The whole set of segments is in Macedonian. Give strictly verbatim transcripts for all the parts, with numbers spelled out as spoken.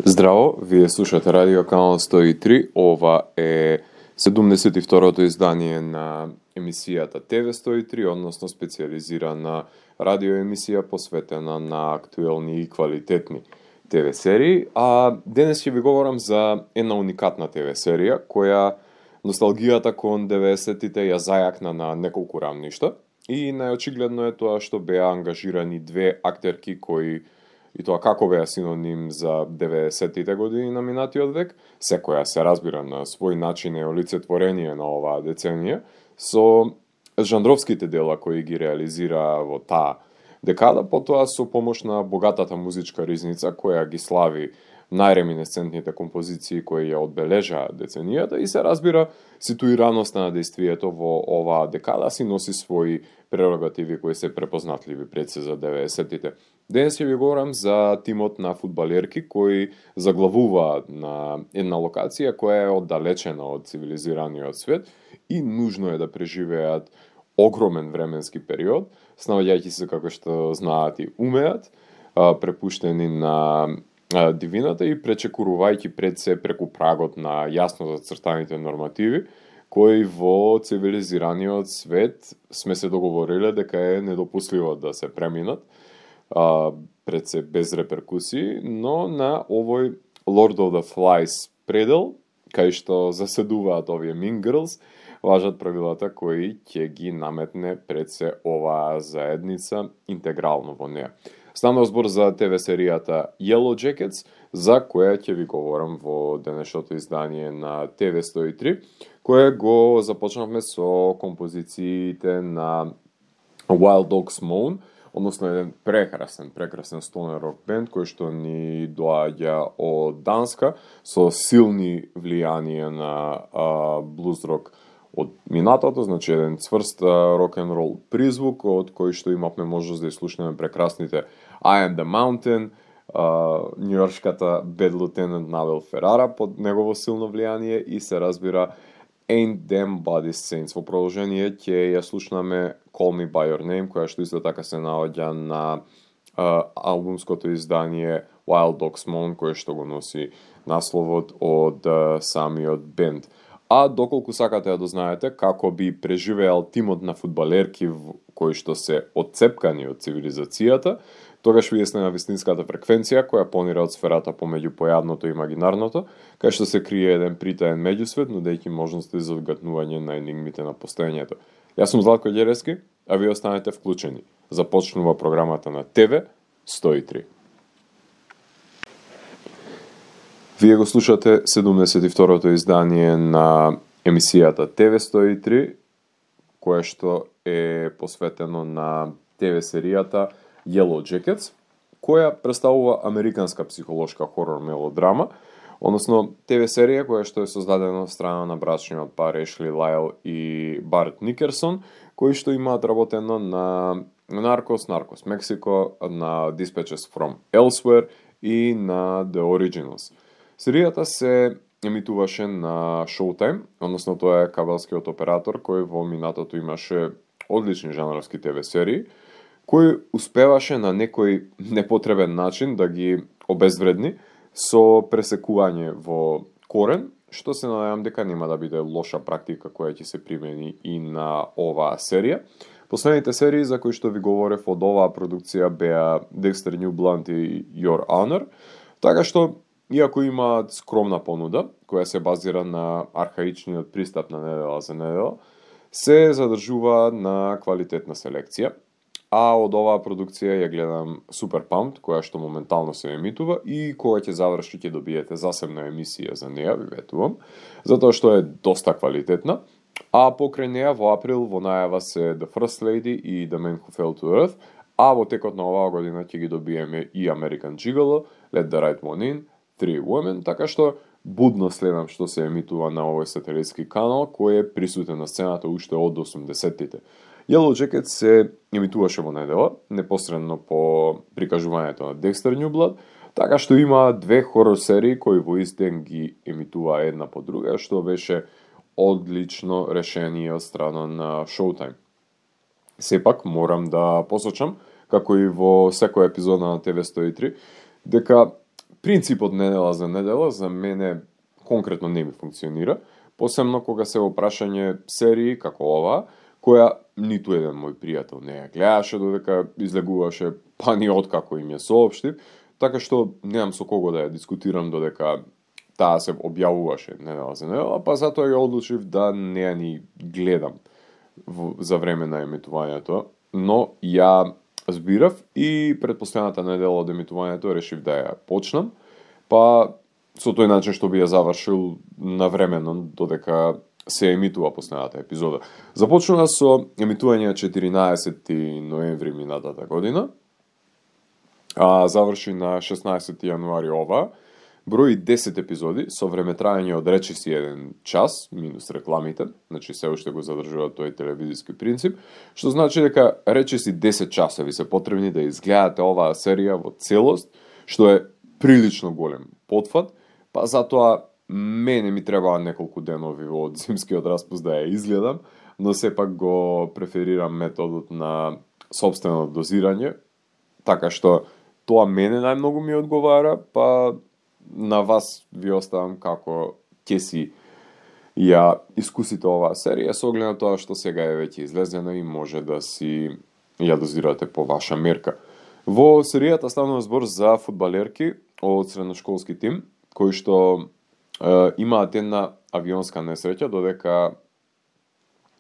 Здраво, вие слушате Радио Канал сто и три, ова е седумдесет и второто издание на емисијата Т В сто и три, односно специализирана радиоемисија посветена на актуелни и квалитетни Т В серии, а денес ќе ви говорам за една уникатна Т В серија, која носталгијата кон деветдесетите ја зајакна на неколку рамништа и најочигледно е тоа што беа ангажирани две актерки кои и тоа како беа синоним за деветдесетите години на минатиот век, секоја се разбира на свој начин е олицетворение на оваа деценија, со жанровските дела кои ги реализира во таа декада, потоа со помош на богатата музичка ризница која ги слави најреминесцентните композиции кои ја одбележаа деценијата и се разбира ситуираноста на действието во оваа декада си носи своји прерогативи кои се препознатливи пред се за деветдесетите. Денес ќе ви говорам за тимот на фудбалерки кои заглавуваат на една локација која е оддалечена од цивилизираниот свет и нужно е да преживеат огромен временски период, снаоѓајќи се како што знаат и умеат, препуштени на дивината и пречекурувајќи пред се преку прагот на јасно зацртаните нормативи, кои во цивилизираниот свет сме се договориле дека е недопустливо да се преминат, а, пред се без реперкусии, но на овој Lord of the Flies предел, кај што заседуваат овие Mean Girls, важат правилата кои ќе ги наметне пред се оваа заедница интегрално во неа. Станува збор за Т В серијата Yellow Jackets, за која ќе ви говорам во денешното издание на Т В сто и три, кое го започнавме со композициите на Wild Dogs Moan, односно еден прекрасен, прекрасен стонер рок бенд кој што ни доаѓа од Данска со силни влијанија на а, блуз рок од минатото, значи еден цврст рок-н-рол призвук од кој што имавме можност да изслушнеме прекрасните I Am The Mountain, њујоршката Bad Lieutenant Навел Ферара под негово силно влијание и се разбира Ain't Them Bodies Saints. Во продолжение ќе ја слушнаме Call Me By Your Name, која што исто така се наоѓа на а, албумското издание Wild Dogs Moan, кој што го носи насловот од а, самиот бенд. А доколку сакате да дознаете како би преживеал тимот на фудбалерки кои што се отцепкани од цивилизацијата, тогаш вие сте на вистинската фреквенција која понира од сферата помеѓу појавното и имагинарното, кај што се крие еден притаен меѓусвет, нудејќи можности за вгатнување на енигмите на постоењето. Јас сум Златко Ѓерески, а вие останете вклучени. Започнува програмата на Т В сто и три. Вие го слушате седумдесет и второто издание на емисијата Т В сто и три, кое што е посветено на Т В серијата Yellow Jackets, која представува американска психолошка хорор мелодрама, односно Т В серија која што е создадена од страна на брачниот пар Ешли Лайл и Барт Никерсон, кои што имаат работено на Наркос, Наркос Мексико, на Dispatches from Elsewhere и на The Originals. Серијата се емитуваше на Showtime, односно тоа е кабелскиот оператор кој во минатото имаше одлични жанровски Т В серии, кој успеваше на некој непотребен начин да ги обезвредни со пресекување во корен, што се надевам дека нема да биде лоша практика која ќе се примени и на оваа серија. Последните серии за кои што ви говорев од оваа продукција беа Dexter New Blood и Your Honor, така што иако имаат скромна понуда, која се базира на архаичниот пристап на недела за недела, се задржува на квалитетна селекција, а од оваа продукција ја гледам Super Pumped, која што моментално се емитува и кога ќе заврши ќе добиете засебна емисија за неа, ви ветувам, затоа што е доста квалитетна, а покрај неа во април во најава се The First Lady и The Man Who Fell to Earth, а во текот на оваа година ќе ги добиеме и American Gigolo, Let the Right One In, Three Women, така што будно следам што се емитува на овој сателитски канал, кој е присутен на сцената уште од осумдесеттите. Yellow Jackets се емитуваше во недела, непосредно по прикажувањето на Dexter New Blood, така што има две хорор серии кои во ист ден ги емитува една по друга, што беше одлично решение од страна на Showtime. Сепак морам да посочам, како и во секоја епизода на Т В сто и три, дека принципот недела за недела за мене конкретно не ми функционира, посебно кога се во прашање серии како ова, која ниту еден мој пријател не ја гледаше додека излегуваше, па ни откако им ја соопштив, така што немам со кого да ја дискутирам додека таа се објавуваше недела за недела, па затоа ја одлучив да не ја ни гледам за време на емитувањето, но ја збирав и пред последната недела од емитувањето решив да ја почнам, па со тој начин што би ја завршил навремено додека се емитува последната епизода. Започнува со емитување четиринаесети ноември минатата година, а заврши на шеснаесети јануари ова, брои десет епизоди со времетраење од речиси еден час, минус рекламите, значи се уште го задржува тој телевизиски принцип, што значи дека речиси десет часови се потребни да изгледате оваа серија во целост, што е прилично голем потфат, па затоа мене ми требаа неколку денови од зимскиот распуст да ја изгледам, но сепак го преферирам методот на сопствено дозирање, така што тоа мене најмногу ми одговара, па на вас ви оставам како ќе си ја искусите оваа серија, со оглед на тоа што сега е веќе излезена и може да си ја дозирате по ваша мерка. Во серијата станува збор за фудбалерки од средношколски тим, кои што е, имаат една авионска несреќа додека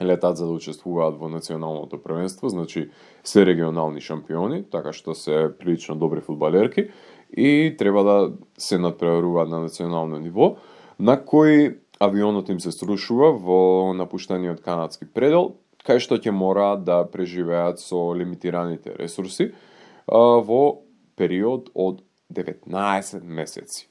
летат за да учествуваат во националното првенство, значи се регионални шампиони, така што се прилично добри фудбалерки и треба да се надпреваруваат на национално ниво, на кој авионот им се срушува во напуштениот канадски предел, кај што ќе мораат да преживеат со лимитираните ресурси а, во период од деветнаесет месеци.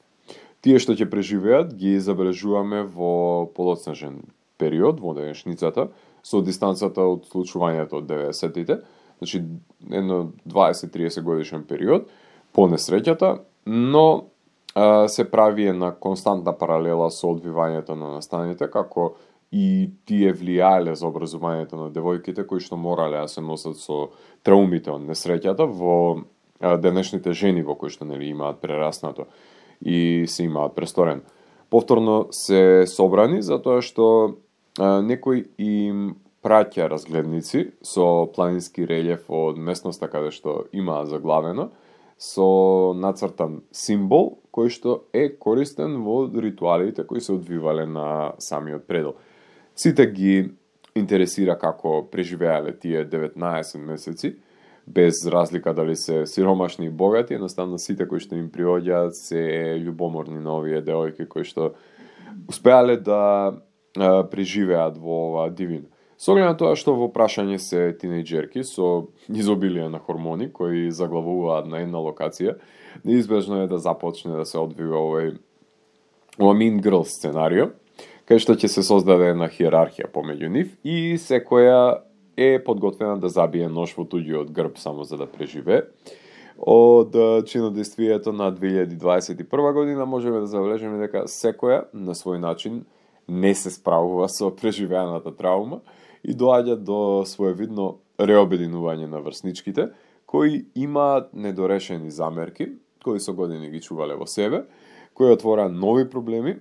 Тие што ќе преживеат ги забележуваме во подоцнежен период во денешницата, со дистанцата од случувањето од деветдесетите, значи едно дваесет-триесет годишен период по несреќата, но а, се прави една константна паралела со одвивањето на настаните, како и тие влијале за образувањето на девојките кои што морале да се носат со траумите од несреќата во а, денешните жени во кои што нели имаат прераснато и се имаат престорен. Повторно се собрани затоа што а, некој им праќа разгледници со планински релјеф од местноста каде што имаат заглавено, со нацртан символ кој што е користен во ритуалите кои се одвивале на самиот предел. Сите ги интересира како преживеале тие деветнаесет месеци, без разлика дали се сиромашни и богати, едноставно сите кои што им приоѓаат се љубоморни на овие девојки кои што успеале да а, преживеат во оваа дивина. Со оглед на тоа што во прашање се тинејџерки со изобилие на хормони кои заглавуваат на една локација, неизбежно е да започне да се одвива овој ова Mean Girls сценарио, кај што ќе се создаде една хиерархија помеѓу нив и секоја е подготвена да забие нож во туѓиот грб само за да преживее. Од чинодействието на две илјади дваесет и прва година можеме да забележиме дека секоја на свој начин не се справува со преживеаната траума и доаѓа до своевидно реобединување на врсничките, кои имаат недорешени замерки, кои со години ги чувале во себе, кои отвораа нови проблеми е,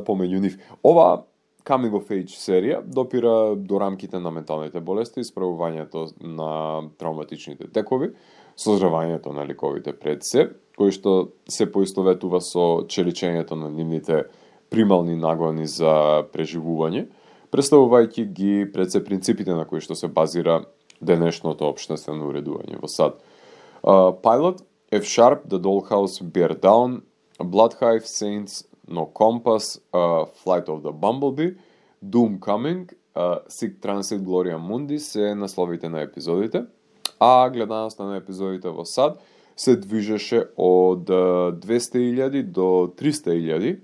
помеѓу нив. Ова Coming of Age серија допира до рамките на менталните болести, исправувањето на травматичните текови, созревањето на ликовите пред се, кои што се поистоветува со челичењето на нивните примални наглани за преживување, представувајќи ги пред се принципите на кои што се базира денешното општествено уредување во САД. Uh, Pilot, F-Sharp, The Dollhouse, Bear Down, Bloodhive, Saints, No Compass, uh, Flight of the Bumblebee, Doom Coming, uh, Sic Transit, Gloria Mundi се насловите на епизодите, а гледаноста на епизодите во САД се движеше од двесте илјади до триста илјади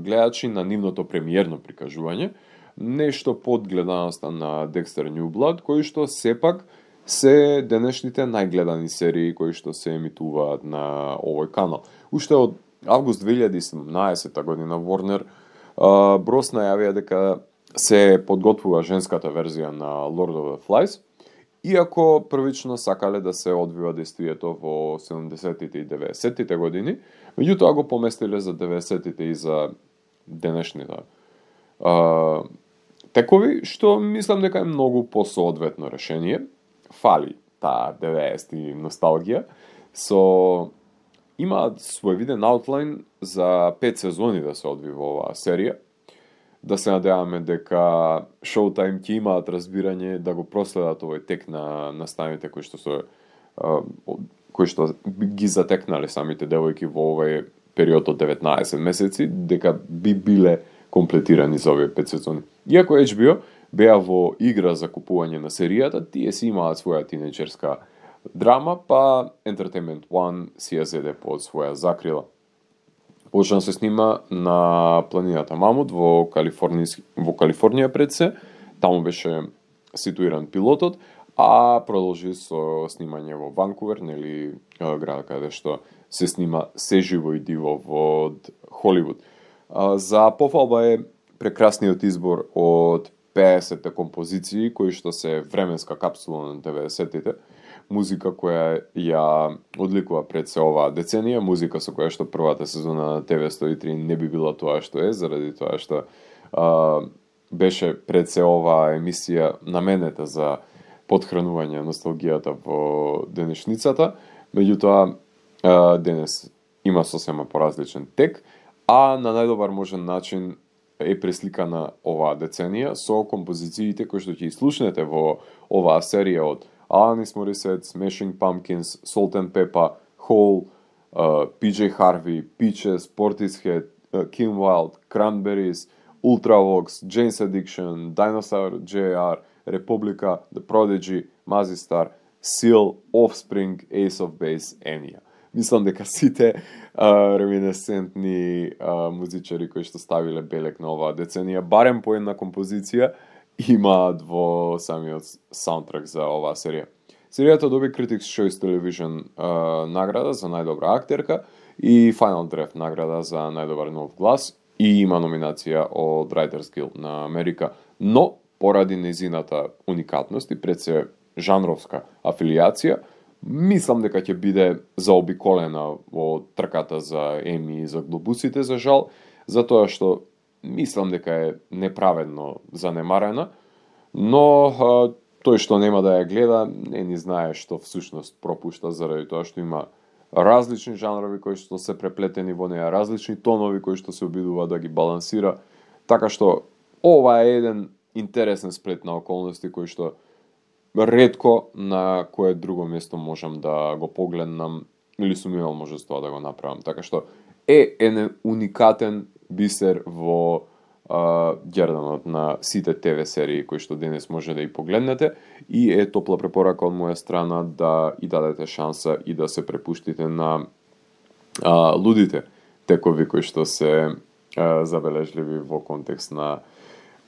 гледачи на нивното премиерно прикажување, нешто под гледаноста на Dexter New Blood, кои што сепак се денешните најгледани серии кои што се емитуваат на овој канал. Уште од август две илјади и седумнаесета година Warner Bros најавија дека се подготвува женската верзија на Lord of the Flies Иако првично сакале да се одвива действието во седумдесеттите и деветдесеттите години, меѓутоа го поместиле за деветдесеттите и за денешните а, текови, што мислам дека е многу посоодветно решение. Фали таа деветдесети носталгија, со имаат свој виден аутлайн за пет сезони да се одвива оваа серија. Да се надеваме дека Showtime ќе имаат разбирање да го проследат овој тек на наставите кои што се кои што ги затекнале самите девојки во овој период од деветнаесет месеци, дека би биле комплетирани за овие пет сезони. Иако Ейч Би О беа во игра за купување на серијата, тие си имаат своја тинеџерска драма, па Entertainment One си ја зеде под своја закрила. Почна се снима на планината Мамут во Калифорнија, во Калифорнија пред се, таму беше ситуиран пилотот, а продолжи со снимање во Ванкувер, нели град каде што се снима се живо и диво во Холивуд. За пофалба е прекрасниот избор од пеесет композиции кои што се временска капсула на деветдесеттите, музика која ја одликува пред се оваа деценија, музика со која што првата сезона на Т В сто и три не би била тоа што е, заради тоа што а, беше пред се оваа емисија наменета за подхранување носталгијата во денешницата, меѓутоа а, денес има сосема поразличен тек, а на најдобар можен начин е пресликана оваа деценија со композициите кои што ќе слушнете во оваа серија од Alanis Morissette, Smashing Pumpkins, Salt and Pepper, Hole, uh, Пи Джей Harvey, Peaches, Portishead, uh, Kim Wilde, Cranberries, Ultravox, Jane's Addiction, Dinosaur J R, Republica, The Prodigy, Mazzy-Star, Seal, Offspring, Ace of Base, Enya. Мислам дека сите uh, реминесцентни uh, музичари кои што ставиле белек на оваа деценија, барем по една композиција, имаат во самиот саундтрак за оваа серија. Серијата доби Critics' Choice Television uh, награда за најдобра актерка и Final Draft награда за најдобар нов глас и има номинација од Writers Guild на Америка, но поради незината уникатност и пред се жанровска афилијација, мислам дека ќе биде заобиколена во трката за Еми и за глобусите, за жал, затоа што мислам дека е неправедно занемарена, но а, тој што нема да ја гледа, не ни знае што всушност пропушта, заради тоа што има различни жанрови кои што се преплетени во неа, различни тонови кои што се обидува да ги балансира, така што ова е еден интересен сплет на околности кои што ретко на кое друго место можам да го погледнам или сум имал можество да го направам, така што е еден уникатен бисер во а, герданот на сите Т В серии кои што денес може да и погледнете, и е топла препорака од моја страна да и дадете шанса и да се препуштите на а, лудите текови кои што се а, забележливи во контекст на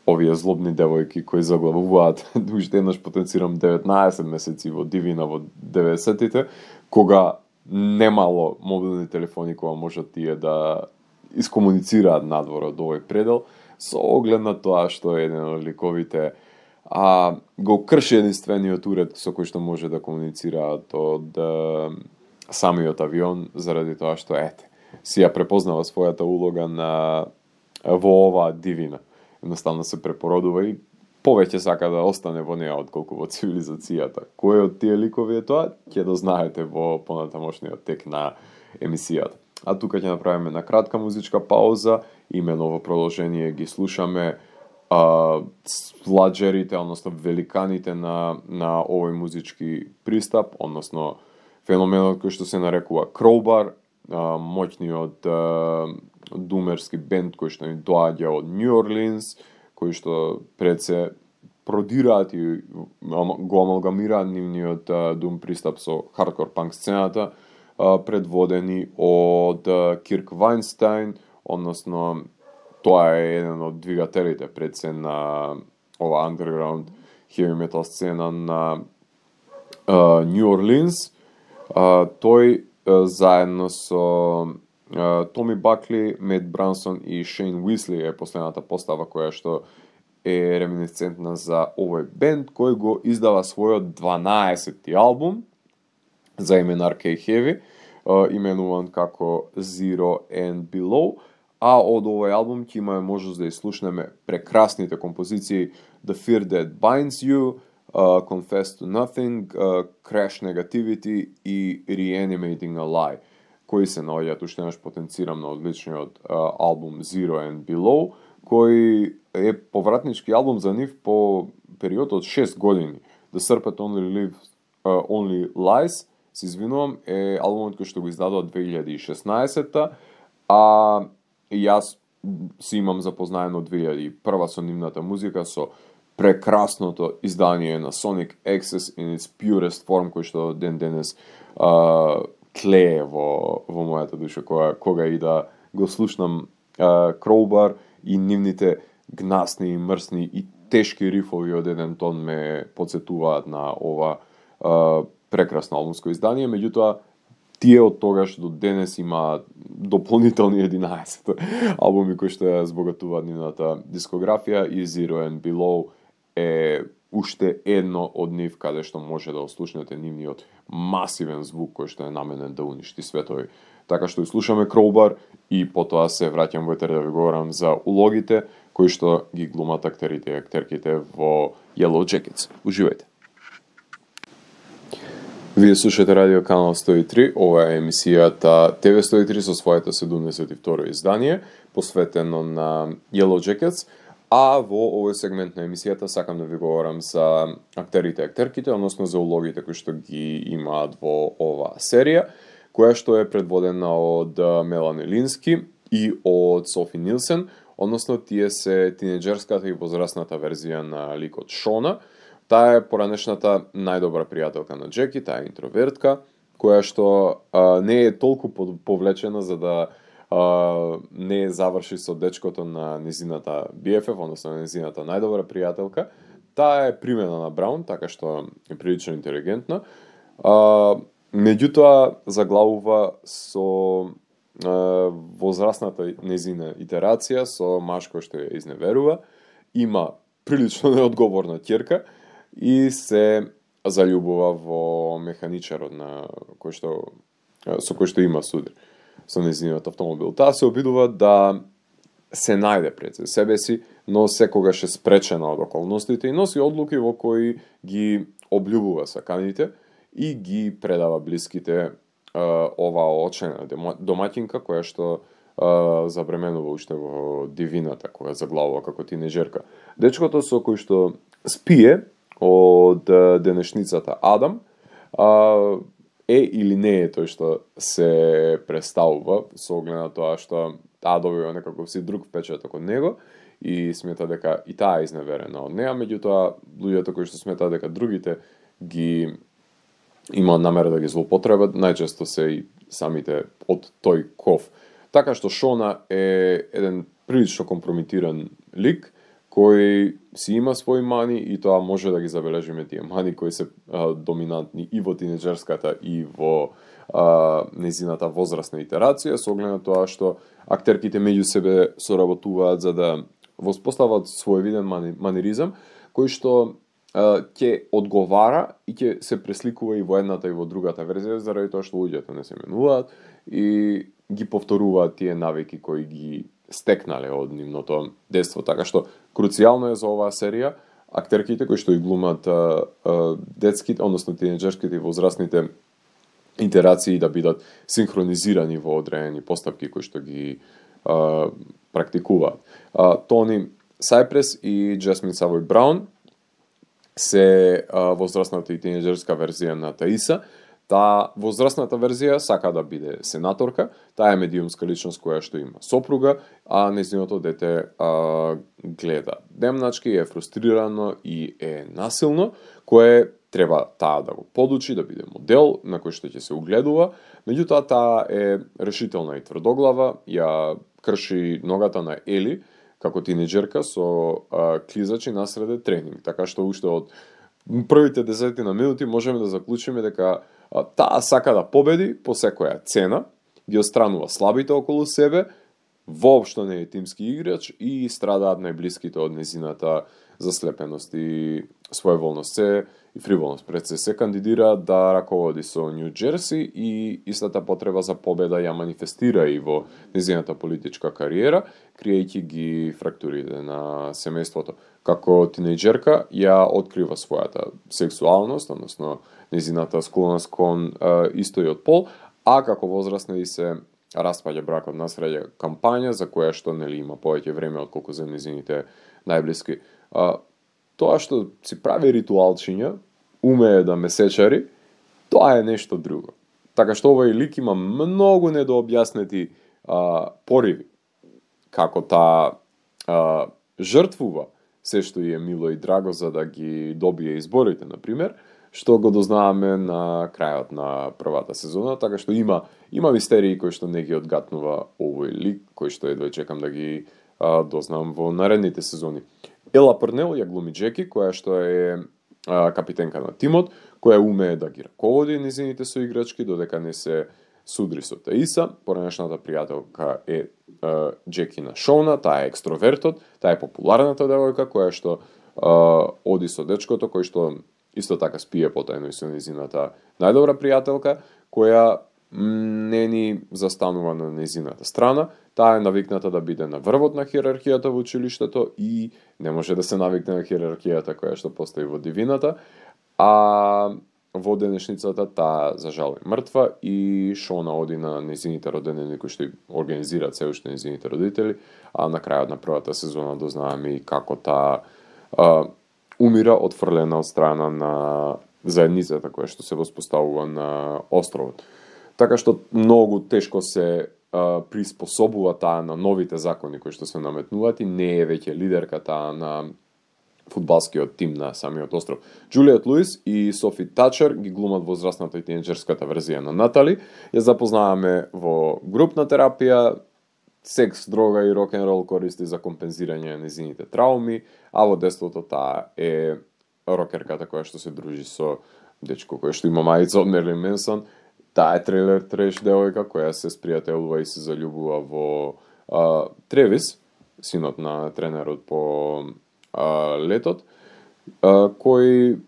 овие злобни девојки кои заглавуваат, уште еднаш потенцирам деветнаесет месеци во Дивина во деветдесеттите, кога немало мобилни телефони кога можат тие да искомуницираат надвор од овој предел, со оглед на тоа што е еден од ликовите а, го крши единствениот уред со кој што може да комуницираат од а, самиот авион, заради тоа што ете, си ја препознава својата улога на во оваа дивина. Едноставно се препородува и повеќе сака да остане во неа отколку во цивилизацијата. Кој од тие ликови е тоа, ќе да знаете во понатамошниот тек на емисијата. А тука ќе направиме на кратка музичка пауза, имено во продолжение ги слушаме а, сладжерите, односно великаните на, на овој музички пристап, односно феноменот кој што се нарекува Crowbar, а, моќниот а, думерски бенд кој што ни доаѓа од Нью Орлинс, кои што пред се продираат и го амалгамираат нивниот дум пристап со хардкор панк сцената, предводени од Кирк Вајнстајн, односно тоа е еден од двигателите пред се на ова underground heavy metal сцена на Нью Орлинс. Тој заедно со Томи Бакли, Мет Брансон и Шейн Уисли е последната постава која што е реминисцентна за овој бенд кој го издава својот дванаесети албум за име Arcade Heavy, именуван како Zero and Below, а од овој албум ќе имаме можност да изслушнеме прекрасните композиции The Fear That Binds You, uh, Confess to Nothing, uh, Crash Negativity и Reanimating a Lie, кои се наоѓаат уште еднаш потенцирам на одличниот uh, албум Zero and Below, кој е повратнички албум за нив по период од шест години. The Serpent Only Lives, uh, Only Lies, се извинувам, е албумот кој што го издадоа две илјади и шеснаесетта, а јас си имам запознаено две илјади и прва со нивната музика, со прекрасното издание на Sonic Access in its purest form, кој што ден денес uh, тлее во, во мојата душа, кога, кога и да го слушнам uh, Crowbar и нивните гнасни, мрсни и тешки рифови од еден тон ме подсетуваат на ова uh, прекрасно албумско издание, меѓутоа тие од тогаш до денес има дополнителни единаесет албуми кои што ја збогатуваат нивната дискографија и Zero and Below е уште едно од нив каде што може да ослушнете нивниот масивен звук кој што е наменен да уништи светови. Така што слушаме Crowbar и потоа се враќам во етер да ви говорам за улогите кои што ги глумат актерите и актерките во Yellow Jackets. Уживајте! Вие слушате радио канал сто и три, ова е емисијата Т В сто и три со своето седумдесет и второ издание, посветено на Yellow Jackets, а во овој сегмент на емисијата сакам да ви говорам за актерите и актерките, односно за улогите кои што ги имаат во оваа серија, која што е предводена од Мелани Лински и од Софи Нилсен, односно тие се тинеџерската и возрастната верзија на ликот Шона. Таа е поранешната најдобра пријателка на Джеки, таа е интровертка, која што а, не е толку повлечена за да а, не заврши со дечкото на незината Би Еф Еф, односно на незината најдобра пријателка. Таа е примена на Браун, така што е прилично интелигентна. А, меѓутоа заглавува со а, возрастната незина итерација, со маж кој што ја изневерува, има прилично неодговорна ќерка, и се заљубува во механичарот на кој што со кој што има судир со нејзиниот автомобил. Таа се обидува да се најде пред себе си, но секогаш е спречена од околностите и носи одлуки во кои ги облюбува саканите и ги предава блиските оваа очена домаќинка која што забременува уште во дивината кога заглавува како тинеџерка. Дечкото со кој што спие од денешницата Адам а, е или не е тој што се представува со оглед на тоа што таа добива некаков си друг впечаток од него и смета дека и таа е изневерена од неа, меѓутоа луѓето кои што сметаат дека другите ги имаат намера да ги злоупотребат, најчесто се и самите од тој ков. Така што Шона е еден прилично компрометиран лик кој си има своји мани и тоа може да ги забележиме тие мани кои се а, доминантни и во тинеџерската и во а, незината возрастна итерација, со оглед на тоа што актерките меѓу себе соработуваат за да воспостават своевиден мани, маниризам кој што ќе одговара и ќе се пресликува и во едната и во другата верзија, заради тоа што луѓето не се менуваат и ги повторуваат тие навики кои ги стекнале од нивното детство. Така што круцијално е за оваа серија актерките кои што и глумат а, а, детските, односно тинеџерските и возрастните итерации да бидат синхронизирани во одредени постапки кои што ги а, практикуваат. А, Тони Сайпрес и Джасмин Савој Браун се а, возрастната и тинеџерска верзија на Таиса. Таа возрастната верзија сака да биде сенаторка, таа е медиумска личност која што има сопруга, а нејзиното дете а, гледа демначки, е фрустрирано и е насилно, кое треба таа да го подучи, да биде модел на кој што ќе се угледува, меѓутоа таа е решителна и тврдоглава, ја крши ногата на Ели, како тинеџерка со а, клизачи насреде тренинг, така што уште од првите десетина минути можеме да заклучиме дека а, таа сака да победи по секоја цена, ги отстранува слабите околу себе, воопшто не е тимски играч и страдаат најблиските од незината заслепеност и своеволност се и фриволност. Пред се се кандидира да раководи со Нью Џерси и истата потреба за победа ја манифестира и во незината политичка кариера, криејќи ги фрактурите на семејството. Како тинејџерка ја открива својата сексуалност, односно незината склоност кон е, истојот пол, а како возрастна и се распаѓа бракот на среќа, кампања за која што нели има повеќе време отколку за незините најблиски. А, тоа што си прави ритуалчиња, умее да ме сечари, тоа е нешто друго. Така што овој лик има многу недообјаснети а, пориви, како таа а, жртвува се што е мило и драго за да ги добие изборите, например, што го дознаваме на крајот на првата сезона, така што има има мистерии кои што не ги одгатнува овој лик, кои што едва чекам да ги а, дознам во наредните сезони. Ела Парнел ја глуми Джеки, која што е а, капитенка на тимот, која умее да ги раководи незините соиграчки, додека не се судри со Таиса. Поранешната пријателка е а, Джекина Шона, таа е екстровертот, таа е популарната девојка, која што а, оди со дечкото, кој што исто така спие потајно и со незината најдобра пријателка, која не ни застанува на незината страна. Таа е навикната да биде на врвот на хиерархијата во училиштето и не може да се навикне на хиерархијата која што постои во дивината, а во денешницата таа за жал е мртва и Шона оди на незините родендени кои што организираат се уште незините родители, а на крајот на првата сезона дознаваме и како таа а, умира отфрлена од страна на заедницата која што се воспоставува на островот. Така што многу тешко се а, приспособува таа на новите закони кои што се наметнуваат и не е веќе лидерка таа на фудбалскиот тим на самиот остров. Џулиет Луис и Софи Тачер ги глумат возрастната и тинеџерската верзија на Натали. Ја запознаваме во групна терапија, секс, дрога и рок-н-рол користи за компензирање на незините трауми, а во детството таа е рокерката која што се дружи со дечко кој што има мајца од Мерлин Менсон. Таа е трейлер треш девојка која се спријателува и се заљубува во а, Тревис, синот на тренерот по а, летот, а, кој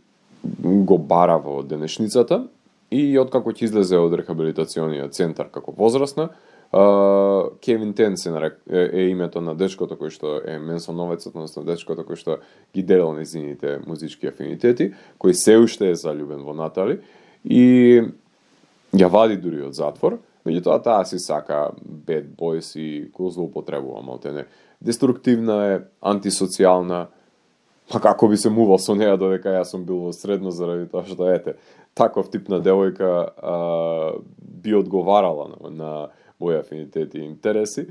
го бара во денешницата и откако ќе излезе од рехабилитациониот центар како возрастна, Uh, Кевин Тен се нарек, е, е името на дечкото кој што е Менсоновецот, односно дечкото кој што ги делел незините музички афинитети, кој се уште е залюбен во Натали и ја вади дури од затвор, меѓутоа таа си сака bad boys и го злоупотребува малтене. Деструктивна е, антисоцијална, па како би се мувал со неја додека јас сум бил во средно заради тоа што ете, таков тип на девојка а, би одговарала на, на мои афинитети и интереси,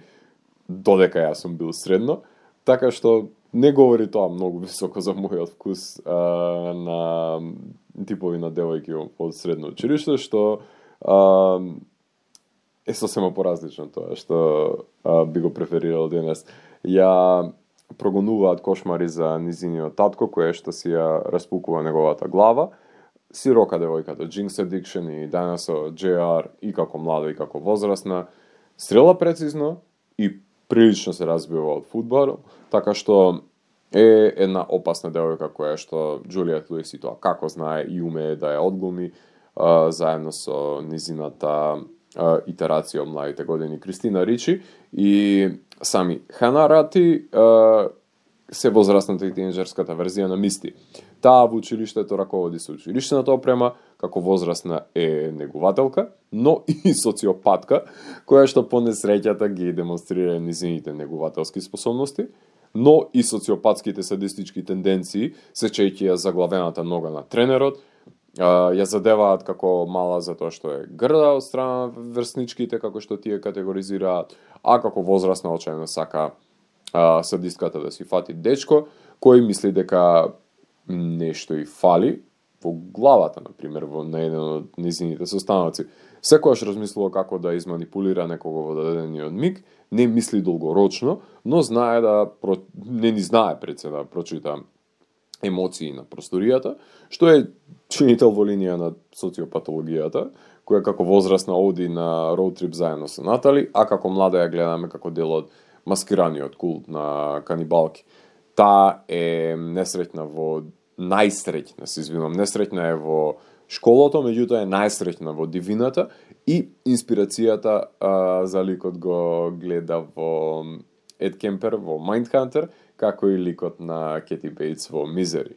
додека јас сум бил средно, така што не говори тоа многу високо за мојот вкус а, на типови на девојки од средно училиште, што а, е сосема поразлично тоа што а, би го преферирал денес. Ја прогонуваат кошмари за низиниот татко, кој што си ја распукува неговата глава, сирока девојката Jinx Addiction и Dinosaur Џе Ар и како млада и како возрастна, стрела прецизно и прилично се разбива од фудбал, така што е една опасна девојка која што Џулиет Луис и тоа како знае и умее да ја одглуми а, заедно со низината а, итерација од младите години Кристина Ричи и сами Хана Рати а, се возрастната и тинеџерската верзија на Мисти. Таа во училиштето раководи со училиштната опрема, како возрастна е негувателка, но и социопатка, која што по несреќата ги демонстрира низините негувателски способности, но и социопатските садистички тенденции, сечејќи ја заглавената нога на тренерот, ја задеваат како мала затоа што е грда од страна врсничките, како што тие категоризираат, а како возрастна очајно сака а, садистката да си фати дечко, кој мисли дека нешто и фали во главата, например, во на еден од низините состаноци. Секојаш размислува како да изманипулира некого во дадениот миг, не мисли долгорочно, но знае да не ни знае пред се да прочита емоции на просторијата, што е чинител во линија на социопатологијата, која како возрастна оди на роуд трип заедно со Натали, а како млада ја гледаме како дел од маскираниот култ на канибалки. Таа е несреќна во најсреќна, се извинувам, несреќна е во школото, меѓутоа е најсреќна во дивината и инспирацијата а, за ликот го гледа во Ед Кемпер во Mindhunter, како и ликот на Кети Бейтс во Мизери.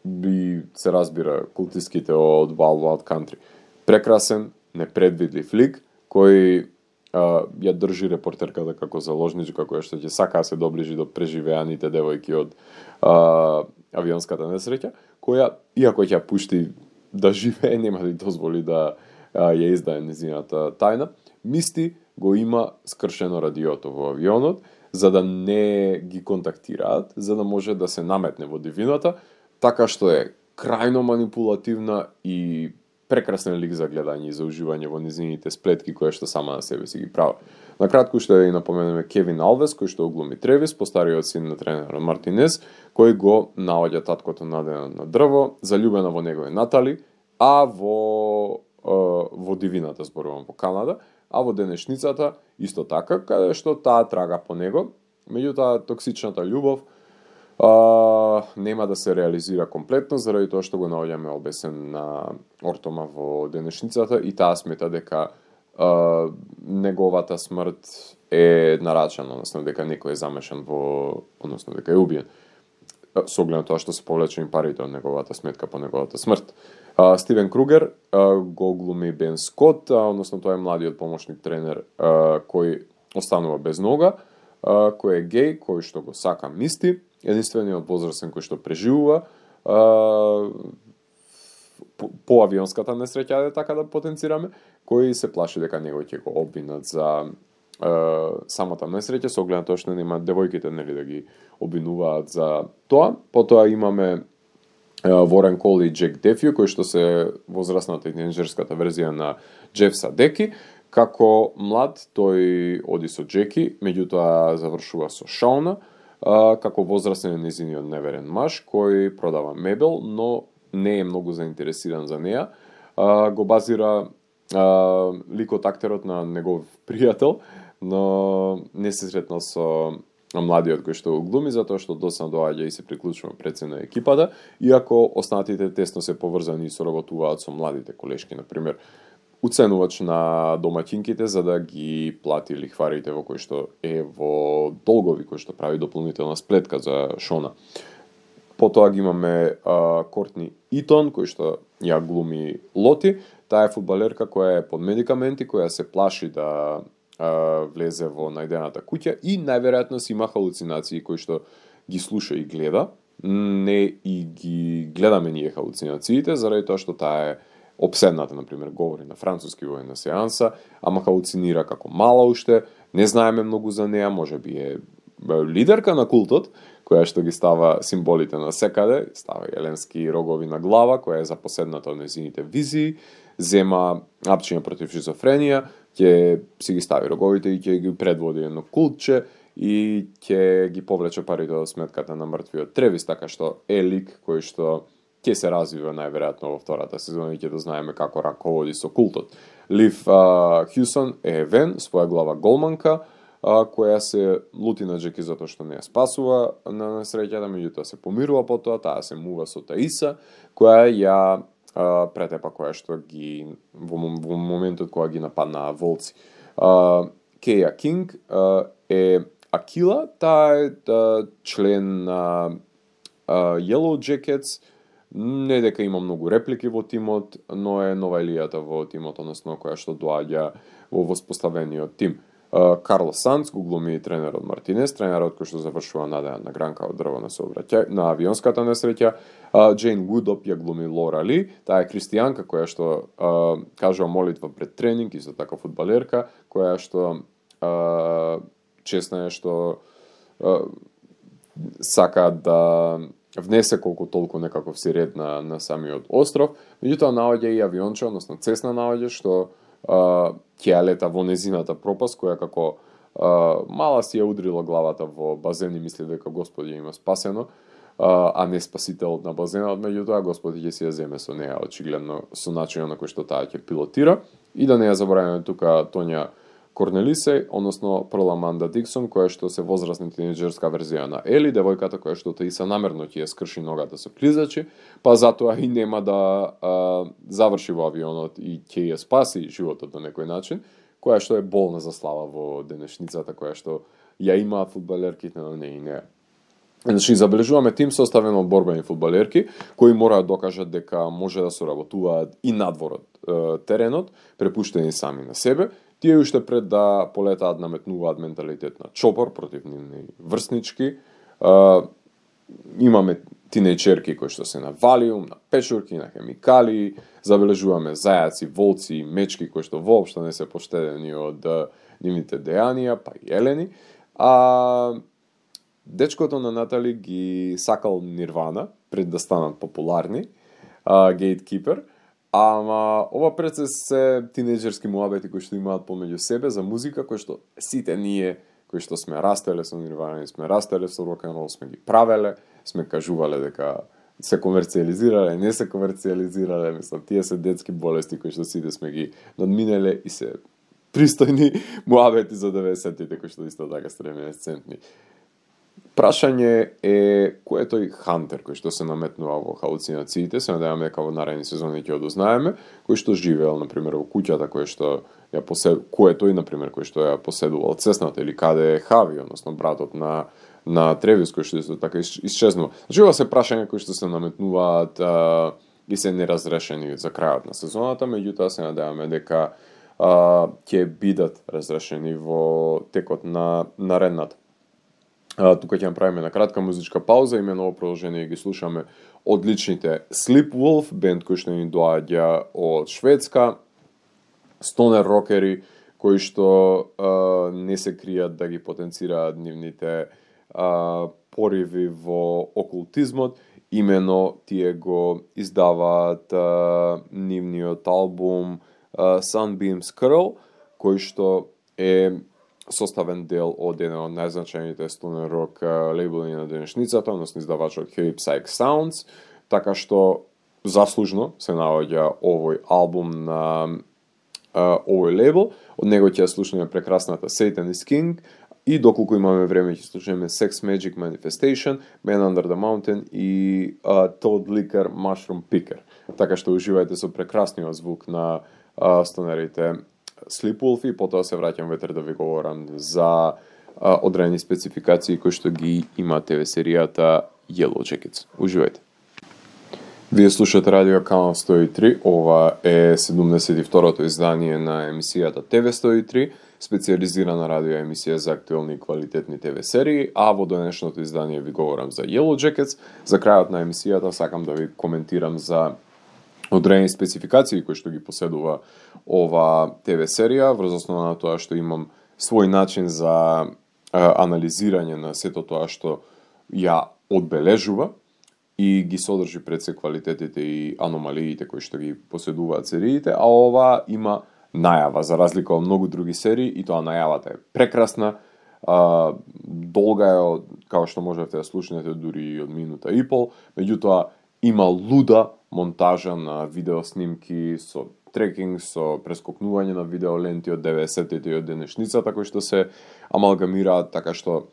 Би се разбира култиските од Wild Wild Country. Прекрасен, непредвидлив лик, кој а, ја држи репортерката како заложничка, која што ќе сака да се доближи до преживеаните девојки од а, авионската несреќа, која, иако ќе ја пушти да живее, нема да ја дозволи да а, ја издае незината тајна, мисти го има скршено радиото во авионот, за да не ги контактираат, за да може да се наметне во дивината, така што е крајно манипулативна и прекрасен лик за гледање и за уживање во низините сплетки кои што сама на себе си ги прави. На кратко што ја напоменеме Кевин Алвес, кој што глуми Тревис, постариот син на тренерот Мартинес, кој го наоѓа таткото надено на дрво, заљубена во него е Натали, а во во дивината зборувам во Канада, а во денешницата исто така, каде што таа трага по него, меѓутоа токсичната љубов а, нема да се реализира комплетно заради тоа што го наоѓаме обесен на Ортома во денешницата и таа смета дека а, неговата смрт е нарачана, односно дека некој е замешан во, односно дека е убиен. Со оглед на тоа што се повлечени парите од неговата сметка по неговата смрт. Uh, Стивен Кругер uh, го глуми Бен Скот, uh, односно тоа е младиот помошник тренер uh, кој останува без нога, uh, кој е геј, кој што го сака Мисти, единствениот возрастен кој што преживува uh, по, по авионската несреќа, така да потенцираме, кој се плаши дека него ќе го обвинат за uh, самата несреќа, со оглед на тоа што нема девојките нели да ги обвинуваат за тоа. Потоа имаме Ворен Кол и Джек Дефју, кои што се возрастната и тинеџерската верзија на Джеф Садеки. Како млад, тој оди со Джеки, меѓутоа завршува со Шауна, како возрастен е незиниот неверен маж, кој продава мебел, но не е многу заинтересиран за неа. Го базира ликот актерот на негов пријател, но не се сретнал со младиот кој што го глуми, затоа што доцна доаѓа и се приклучува пред се на екипата, иако останатите тесно се поврзани и соработуваат со младите колешки, например, уценувач на домаќинките за да ги плати лихварите во кој што е во долгови, кој што прави дополнителна сплетка за Шона. Потоа ги имаме а, Кортни Итон, кој што ја глуми Лоти, таа е фудбалерка која е под медикаменти, која се плаши да влезе во најдената куќа и најверојатно си има халуцинации кои што ги слуша и гледа, не и ги гледаме ние халуцинациите, заради тоа што таа е обседната, например, говори на француски во една сеанса, ама халуцинира како мала уште, не знаеме многу за неа, може би е лидерка на култот, која што ги става символите на секаде, става еленски рогови на глава, која е запоседната од незините визии, зема апчиња против шизофренија, ќе си ги стави роговите и ќе ги предводи едно култче и ќе ги повлече парите од сметката на мртвиот Тревис, така што е лик кој што ќе се развива најверојатно во втората сезона и ќе да знаеме како раководи со култот. Лив uh, Хјусон е Вен, своја глава голманка, uh, која се лути на Джеки затоа што не ја спасува на несреќата, меѓутоа се помирува потоа, таа се мува со Таиса, која ја Uh, претепа која што ги во, во моментот кога ги нападнаа волци. Uh, Кеја Кинг uh, е Акила, таа е uh, член на uh, Yellow Jackets, не дека има многу реплики во тимот, но е нова елијата во тимот, односно која што доаѓа во воспоставениот тим. Uh, Карл Санц го глуми тренерот Мартинес, тренерот кој што завршува надеја на гранка од дрво на сообраќај, на авионската несреќа. Uh, Джейн Вудоп ја глуми Лора Ли, таа е христијанка која што uh, кажува молитва пред тренинг, исто така фудбалерка, која што uh, честна е што uh, сака да внесе колку толку некаков си ред на, на самиот остров, меѓутоа наоѓа и авионче, односно Цесна наоѓа што uh, ќе лета во незината пропаст, која како uh, мала си ја удрила главата во базен и мисли дека Господи има спасено. а, а не спасител на базенот, меѓутоа Господ ќе си ја земе со неа, очигледно со начинот на кој што таа ќе пилотира. И да не ја забораваме тука Тоња Корнелисеј, односно Перл Аманда Диксон, која што се возрастна тинеџерска верзија на Ели, девојката која што таиса намерно ќе ја скрши ногата со клизачи, па затоа и нема да а, заврши во авионот и ќе ја спаси животот на некој начин, која што е болна за слава во денешницата, која што ја имаат фудбалерките, но не и не. Значи, забележуваме тим составен од борбени фудбалерки, кои мораат да докажат дека може да соработуваат и надвор од теренот, препуштени сами на себе. Тие уште пред да полетаат наметнуваат менталитет на чопор против нивни врснички. Uh, имаме тинејчерки кои што се на валиум, на печурки, на хемикали, забележуваме зајаци, волци и мечки кои што воопшто не се поштедени од uh, нивните дејанија, па и елени. А дечкото на Натали ги сакал Нирвана пред да станат популарни, uh, Gatekeeper. Ама ова процес се тинеџерски муабети кои што имаат помеѓу себе за музика, кои што сите ние кои што сме растеле со Нирвана и сме растеле со рок н рол, сме ги правеле, сме кажувале дека се комерцијализирале, не се комерцијализирале, мислам, тие се детски болести кои што сите сме ги надминеле и се пристојни муабети за деветдесеттите кои што исто така стремесцентни. Прашање е кој е тој хантер кој што се наметнува во халуцинациите, се надеваме дека во наредни сезони ќе одузнаеме, кој што живеел на пример во куќата, кој што ја посед кој е тој на пример кој што ја поседувал цесната или каде е Хави, односно братот на на Тревис кој што исто така исчезнува. Значи ова се прашања кои што се наметнуваат а, и се неразрешени за крајот на сезоната, меѓутоа се надеваме дека а, ќе бидат разрешени во текот на наредната. Uh, тука ќе направиме на кратка музичка пауза, имено ово продолжение ги слушаме одличните Sleepwolf, бенд кој што ни доаѓа од Шведска, стонер рокери кои што uh, не се кријат да ги потенцираат нивните uh, пориви во окултизмот, имено тие го издаваат uh, нивниот албум uh, Sunbeams Curl, кој што е составен дел од еден од најзначајните стонер рок лейбли на денешницата, односно издавачот Heavy Psych Sounds, така што заслужно се наоѓа овој албум на uh, овој лейбл. Од него ќе слушаме прекрасната Satan is King и доколку имаме време ќе слушаме Sex Magic Manifestation, Man Under the Mountain и uh, Toad Liquor Mushroom Picker. Така што уживајте со прекрасниот звук на uh, стонерите Sleepwolf и потоа се враќам ветер да ви говорам за а, одредени спецификации кои што ги има Т В серијата Yellow Jackets. Уживајте. Вие слушате Радио Канал сто и три, ова е седумдесет и второто издание на емисијата Т В сто и три, специјализирана радио емисија за актуелни и квалитетни Т В серии, а во денешното издание ви говорам за Yellow Jackets. За крајот на емисијата сакам да ви коментирам за одредени спецификации кои што ги поседува ова Т В серија, врз основа на тоа што имам свој начин за а, анализирање на сето тоа што ја одбележува и ги содржи пред се квалитетите и аномалиите кои што ги поседуваат сериите, а ова има најава, за разлика од многу други серии, и тоа најавата е прекрасна, а, долга е, као што можете да слушнете дури од минута и пол, меѓутоа има луда монтажа на видеоснимки со трекинг, со прескокнување на видеоленти од деветдесеттите и од денешницата кои што се амалгамираат, така што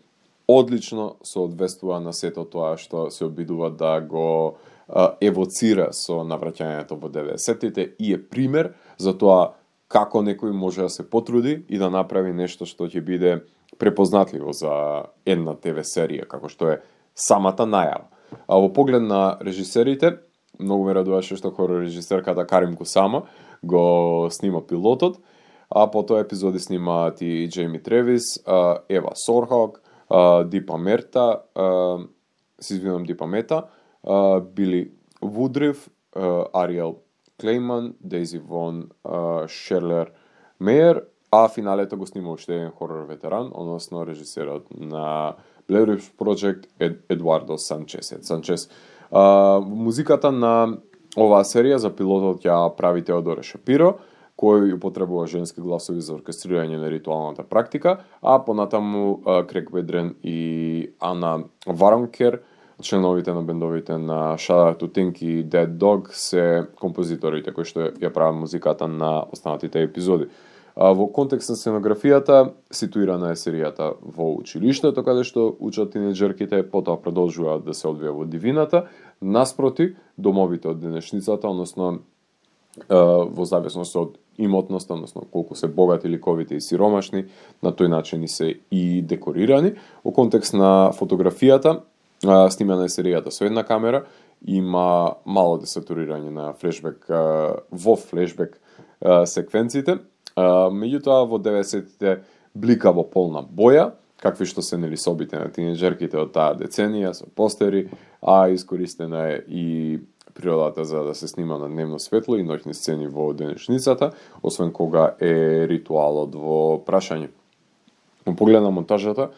одлично соодветствува на сето тоа што се обидува да го а, евоцира со навраќањето во деветдесеттите и е пример за тоа како некој може да се потруди и да направи нешто што ќе биде препознатливо за една Т В серија, како што е самата најава. А во поглед на режисерите, многу ме радуваше што хорор режисерката Карим Кусама го снима пилотот, а потоа епизоди снимаат и Джейми Тревис, Ева Сорхок, Дипа Мерта, се извинувам Дипа Мета, Били Вудрив, Ариел Клейман, Дейзи Вон Шерлер Мејер, а финалето го снима уште еден хорор ветеран, односно режисерот на Blair Witch Project Ед, Едуардо Санчес. Санчес. А, музиката на оваа серија за пилотот ја прави Теодоре Шапиро, кој употребува женски гласови за оркестрирање на ритуалната практика, а понатаму Крек Бедрен и Ана Варонкер членовите на бендовите на Shout Out to Think и Dead Dog се композиторите кои што ја прават музиката на останатите епизоди. А, во контекст на сценографијата, ситуирана е серијата во училиштето, каде што учат тинеџерките, потоа продолжуваат да се одвија во дивината, наспроти домовите од денешницата, односно во зависност од имотноста, односно колку се богати ликовите и сиромашни, на тој начин и се и декорирани. Во контекст на фотографијата, снимана е серијата со една камера, има мало десатурирање на флешбек во флешбек секвенците. Меѓутоа во деветдесетите блика во полна боја, какви што се нели собите на тинеџерките од таа деценија со постери, а искористена е и природата за да се снима на дневно светло и ноќни сцени во денешницата, освен кога е ритуалот во прашање. Во поглед на монтажата,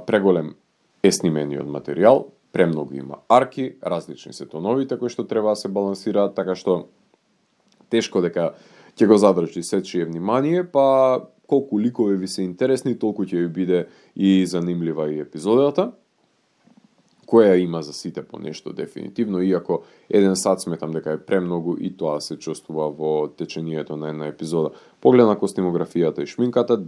преголем е снимениот материјал, премногу има арки, различни се тоновите кои што треба да се балансираат, така што тешко дека ќе го задржи сечие внимание, па колку ликови ви се интересни, толку ќе ви биде и занимлива и епизодата, која има за сите по нешто дефинитивно, иако еден сат сметам дека е премногу и тоа се чувствува во течението на една епизода. Поглед на костимографијата и шминката,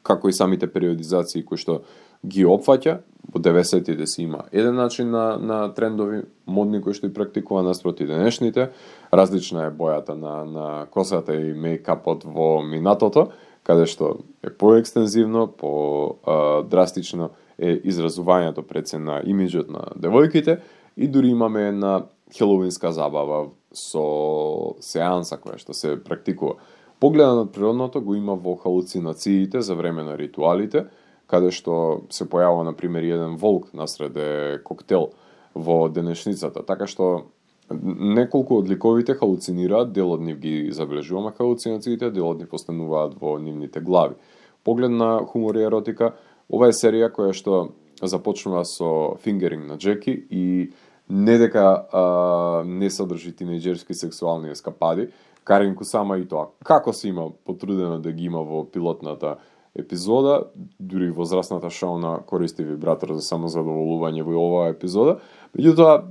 како и самите периодизации кои што ги опфаќа, во деветдесетите си има еден начин на, на трендови модни кои што и практикува наспроти денешните. Различна е бојата на, на косата и мејкапот во минатото, каде што е поекстензивно, по-драстично е изразувањето пред се на имиджот на девојките и дури имаме една хелоуинска забава со сеанса која што се практикува. Погледа на природното го има во халуцинациите за време на ритуалите, каде што се појавува, на пример, еден волк насреде коктел во денешницата, така што неколку од ликовите халуцинираат, дел од нив ги забележуваме халуцинациите, дел од нив остануваат во нивните глави. Поглед на хумор и еротика, ова е серија која што започнува со фингеринг на Джеки и не дека а, не содржи тинеџерски сексуални ескапади, Карин Кусама и тоа како се има потрудено да ги има во пилотната епизода, дури возрастната Шона користи вибратор за самозадоволување во оваа епизода. Меѓутоа,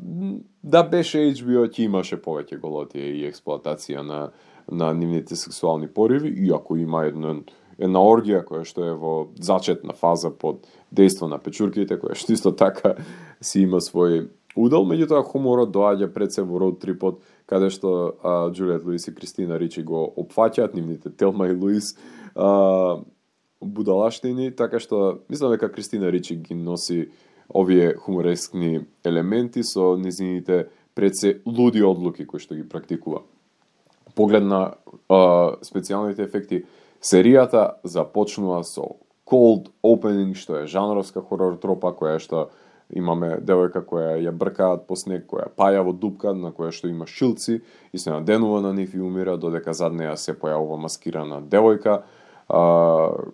да беше Ейч Би О, ќе имаше повеќе голотија и експлоатација на, на нивните сексуални пориви, иако има една, една оргија која што е во зачетна фаза под дејство на печурките, која што исто така си има свој удел, меѓутоа хуморот доаѓа пред се во роуд трипот, каде што а, Џулиет Луис и Кристина Ричи го опфаќаат нивните Телма и Луис а, будалаштини, така што мислам дека Кристина Ричи ги носи овие хуморескни елементи со низините пред се луди одлуки кои што ги практикува. Поглед на а, специјалните ефекти, серијата започнува со cold opening, што е жанровска хорор тропа, која што имаме девојка која ја бркаат по снег, која паја во дупка, на која што има шилци и се наденува на нив и умира, додека зад неја се појавува маскирана девојка, а,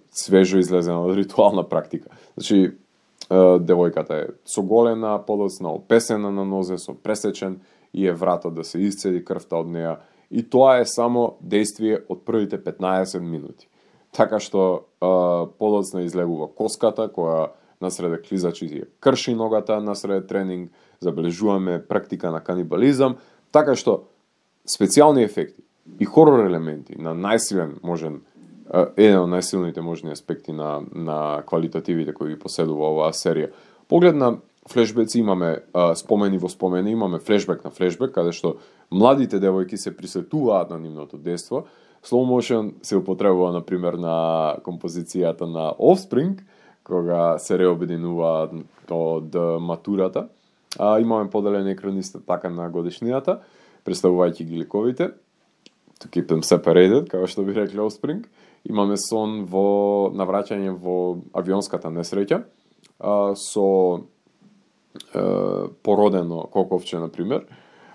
свежо излезена од ритуална практика. Значи, а, девојката е соголена, подоцна, опесена на нозе, со пресечен и е вратот да се исцеди крвта од неја. И тоа е само действие од првите петнаесет минути. Така што а, подоцна излегува коската, која насреде клизачи ја крши ногата, насреде тренинг, забележуваме практика на канибализам, така што специјални ефекти и хорор елементи на најсилен можен, еден од најсилните можни аспекти на, на квалитативите кои ги поседува оваа серија. Поглед на флешбеци имаме а, спомени во спомени, имаме флешбек на флешбек, каде што младите девојки се присетуваат на нивното дејство. Slow motion се употребува, например, на композицијата на Offspring, кога се реобединуваат од матурата. А, имаме поделен екран исто така на годишнината, представувајќи ги ликовите, to keep them separated, како што би рекли Offspring. Имаме сон во навраќање во авионската несреќа, а, со а, породено коковче, например,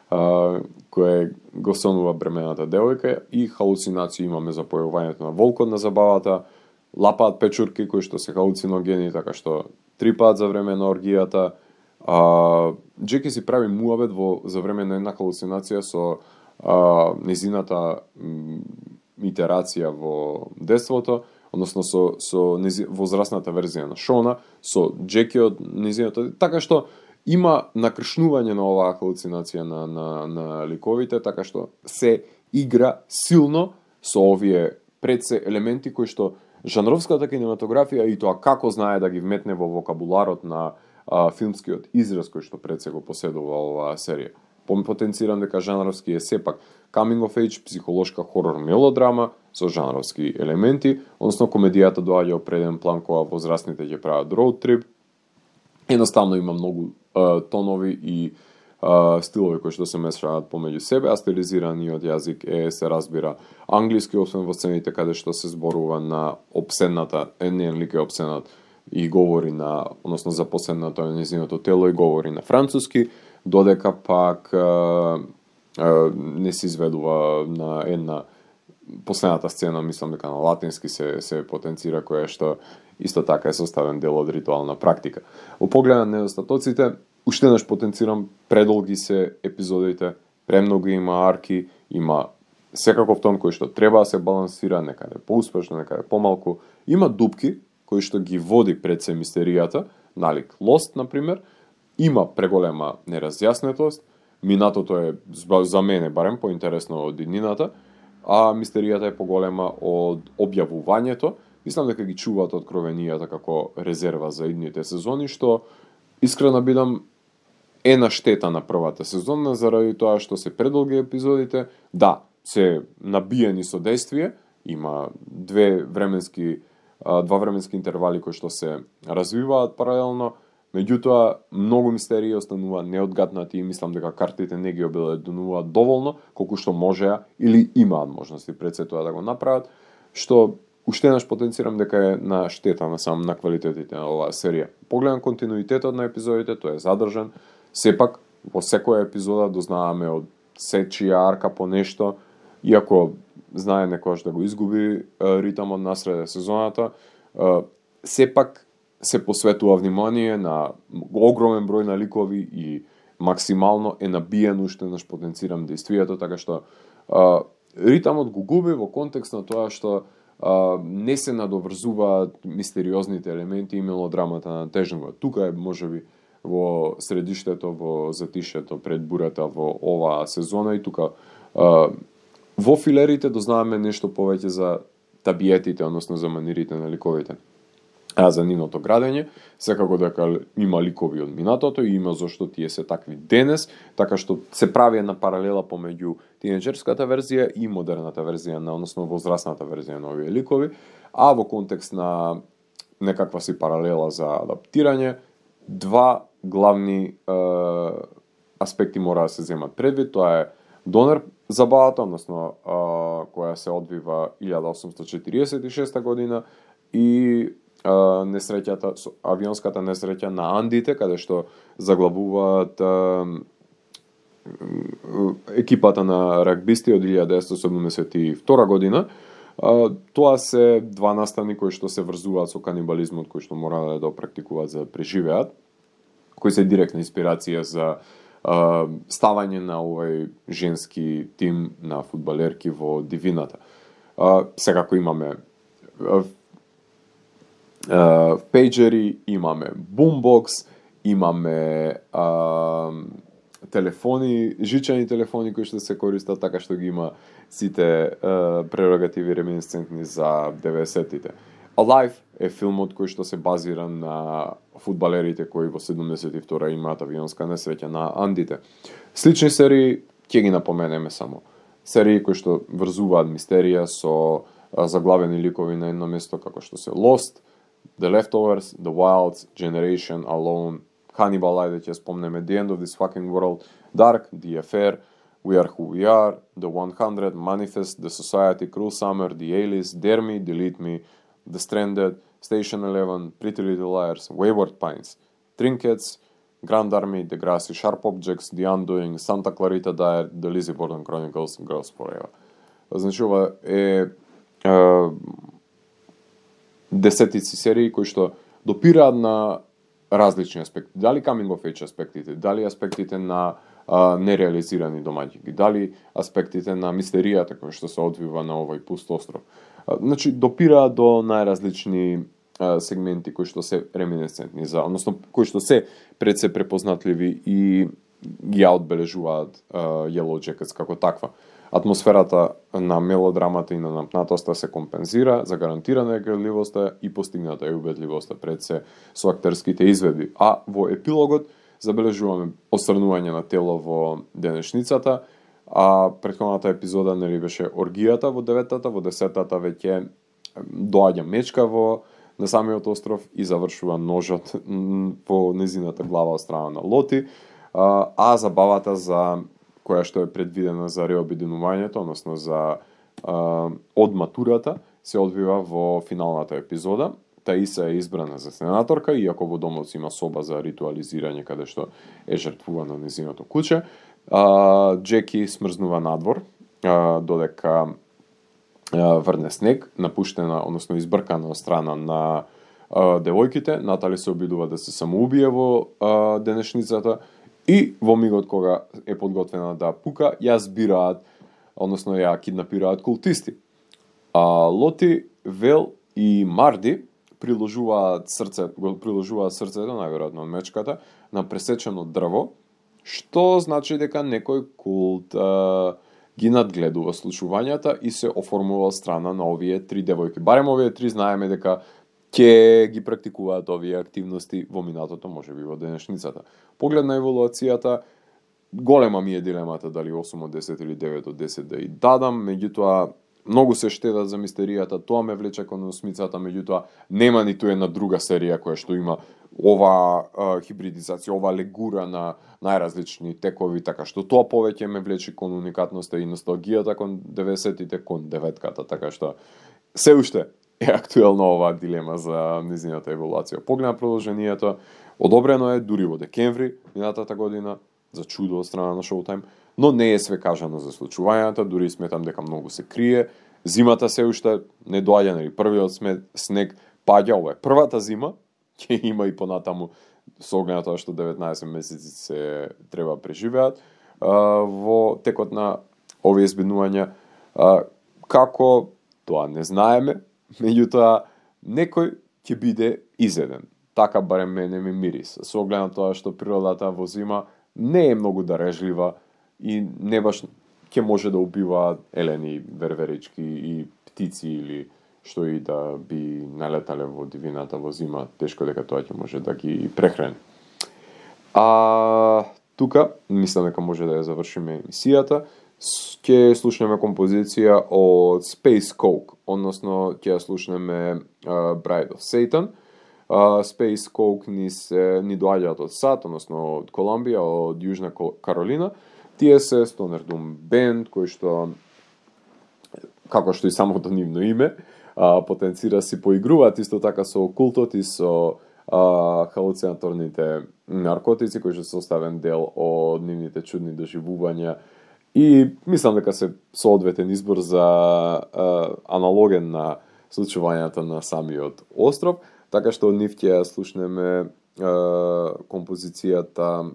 а, кое го сонува бремената девојка, и халуцинации имаме за појавувањето на волкот на забавата, лапаат печурки кои што се халуциногени, така што трипаат за време на оргијата. А, Джеки си прави муабет во за време на една халуцинација со а, незината м, итерација во детството, односно со со нези, возрастната верзија на Шона, со Джеки од незината, така што има накршнување на оваа халуцинација на, на, на ликовите, така што се игра силно со овие предсе елементи кои што жанровската кинематографија и тоа како знае да ги вметне во вокабуларот на а, филмскиот израз кој што предсе го поседува оваа серија. Потенцирам дека жанровски е сепак coming of age, психолошка хорор мелодрама со жанровски елементи, односно комедијата доаѓа во преден план кога возрастните ќе прават роуд трип. Едноставно има многу а, тонови и а, стилови кои што се мешаат помеѓу себе, а стилизираниот јазик е, се разбира, англиски, освен во сцените каде што се зборува на обседната, еден лик е обседнат и говори на, односно запоседната на нејзиното тело и говори на француски, додека пак а, а, не се изведува на една последната сцена, мислам дека на латински се се потенцира, која што исто така е составен дел од ритуална практика. Во поглед на недостатоците, уште еднаш потенцирам, предолги се епизодите, премногу има арки, има секаков тон кој што треба да се балансира, некаде поуспешно, некаде помалку, има дупки кои што ги води пред се мистеријата, налик Lost, например, има преголема неразјаснетост, минатото е за мене барем поинтересно од иднината, а мистеријата е поголема од објавувањето. Мислам дека ги чуваат откровенијата како резерва за идните сезони, што искрено бидам е на штета на првата сезона, заради тоа што се предолги епизодите, да, се набиени со действие, има две временски, два временски интервали кои што се развиваат паралелно, меѓутоа многу мистерии останува неодгатнати и мислам дека картите не ги обеледенуваат доволно колку што можеа или имаат можности пред се тоа да го направат, што уште еднаш потенцирам дека е на штета на сам на квалитетите на оваа серија. Погледам континуитетот на епизодите, тој е задржан. Сепак во секоја епизода дознаваме од сечија арка по нешто, иако знае некојаш да го изгуби ритамот насреде сезоната, сепак се посветува внимание на огромен број на ликови и максимално е набиен, уште еднаш потенцирам действието, така што а, ритамот го губи во контекст на тоа што а, не се надоврзуваат мистериозните елементи и мелодрамата на тежнува. Тука е можеби во средиштето, во затишето пред бурата во оваа сезона и тука а, во филерите дознаваме нешто повеќе за табиетите, односно за манирите на ликовите. А за нивното градење, секако дека има ликови од минатото и има зашто тие се такви денес, така што се прави една паралела помеѓу тинеџерската верзија и модерната верзија, на, односно возрастната верзија на овие ликови, а во контекст на некаква си паралела за адаптирање, два главни е, аспекти мора да се земат предвид, тоа е Донер забавата, односно е, која се одвива илјада осумстотини четириесет и шеста година и несреќата, авионската несреќа на Андите, каде што заглавуваат екипата на рагбисти од илјада деветстотини седумдесет и втора година. Тоа се два наставни кои што се врзуваат со канибализмот, кои што мора да практикуваат за да преживеат, кои се директна инспирација за ставање на овој женски тим на фудбалерки во дивината. Секако имаме Uh, пејджери, имаме бумбокс, имаме uh, телефони, жичани телефони кои што се користат, така што ги има сите uh, прерогативи реминисцентни за деветдесеттите. Alive е филмот кој што се базира на фудбалерите кои во седумдесет и втора имаат авионска несреќа на Андите. Слични серии ќе ги напоменеме само. Серии кои што врзуваат мистерија со uh, заглавени ликови на едно место, како што се Lost, The Leftovers, The Wilds, Generation, Alone, Hannibal, ајде ќе спомнеме, The End of This Fucking World, Dark, The Affair, We Are Who We Are, The one hundred, Manifest, The Society, Cruel Summer, The A-List, Dare Me, Delete Me, The Stranded, Station Eleven, Pretty Little Liars, Wayward Pines, Trinkets, Grand Army, Degrassi, Sharp Objects, The Undoing, Santa Clarita Diet, The Lizzie Borden Chronicles, Girls Forever. Значи, ова е... е десетици серии кои што допираат на различни аспекти. Дали coming of age аспектите, дали аспектите на а, нереализирани домаќини, дали аспектите на мистеријата која што се одвива на овој пуст остров. А, значи, допираат до најразлични сегменти кои што се реминесцентни за, односно кои што се пред се препознатливи и ги ја одбележуваат Yellow Jackets како таква. Атмосферата на мелодрамата и на напнатоста се компензира за гарантирана играливоста и постигната е убедливоста пред се со актерските изведби. А во епилогот забележуваме осрнување на тело во денешницата, а претходната епизода нели беше оргијата во деветата, во десетата веќе доаѓа мечка во на самиот остров и завршува ножот по незината глава од страна на Лоти, а, а забавата за која што е предвидена за реобединувањето, односно за а, од матурата, се одвива во финалната епизода. Таиса е избрана за сенаторка, иако во домот има соба за ритуализирање каде што е жртвувано незиното куче. А, Джеки смрзнува надвор, а, додека врне снег, напуштена, односно избркана од страна на а, девојките. Натали се обидува да се самоубие во а, денешницата и во мигот кога е подготвена да пука, ја збираат, односно ја киднапираат култисти. А Лоти, Вел и Марди приложуваат срце, го приложуваат срцето, најверојатно од мечката, на пресечено дрво, што значи дека некој култ а, ги надгледува случувањата и се оформува од страна на овие три девојки. Барем овие три знаеме дека ќе ги практикуваат овие активности во минатото, можеби во денешницата. Поглед на еволуацијата, голема ми е дилемата дали осум од десет или девет од десет да и дадам, меѓутоа многу се штедат за мистеријата, тоа ме влече кон осмицата, меѓутоа нема ниту една друга серија која што има ова а, хибридизација, ова легура на најразлични текови, така што тоа повеќе ме влече кон уникатноста и носталгијата кон деветдесетите, кон деветката, така што се уште е актуелна оваа дилема за незината еволуација. Поглед на продолжението, одобрено е дури во декември минатата година, за чудо од страна на Showtime, но не е све кажано за случувањата, дури сметам дека многу се крие. Зимата се уште не доаѓа, нели првиот снег паѓа, ова е првата зима, ќе има и понатаму со оглед на тоа што деветнаесет месеци се треба преживеат а, во текот на овие избеднувања. А, како тоа не знаеме, меѓутоа некој ќе биде изеден. Така барем мене ми мирис. Со оглед на тоа што природата во зима не е многу дарежлива и не баш ќе може да убива елени, верверички и птици или што и да би налетале во дивината во зима, тешко дека тоа ќе може да ги прехрани. А тука, мислам дека може да ја завршиме емисијата. Ќе слушнеме композиција од Space Coke, односно ќе ја слушнеме uh, Bride of Satan. Uh, Space Coke ни, се, ни доаѓаат од САД, односно од Колумбија, од Јужна Каролина. Тие се Stoner Doom бенд, кој што, како што и самото нивно име, uh, потенцира си поигруваат исто така со окултот и со uh, халуцинаторните наркотици, кои што се составен дел од нивните чудни доживувања. И мислам дека се соодветен избор за uh, аналоген на случувањата на самиот остров, така што од нив ќе ја слушнеме uh, композицијата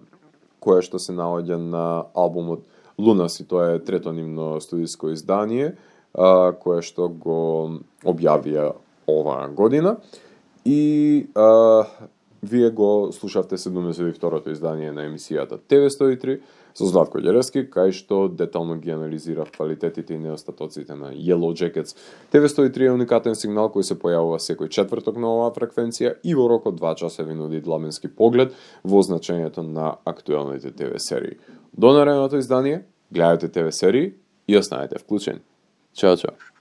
која што се наоѓа на албумот Lunacy, тоа е трето нивно студиско издание, uh, кое што го објавија оваа година. И uh, вие го слушавте седумдесет и второто издание на емисијата Т В сто и три со Златко Ѓерески, кај што детално ги анализира квалитетите и неостатоците на Yellow Jackets. Т В сто и три е уникатен сигнал кој се појавува секој четврток на оваа фреквенција и во рок од два часа ви нуди дламенски поглед во значењето на актуелните Т В серии. До наредното издание, гледате Т В серии и останете вклучени. Чао, чао.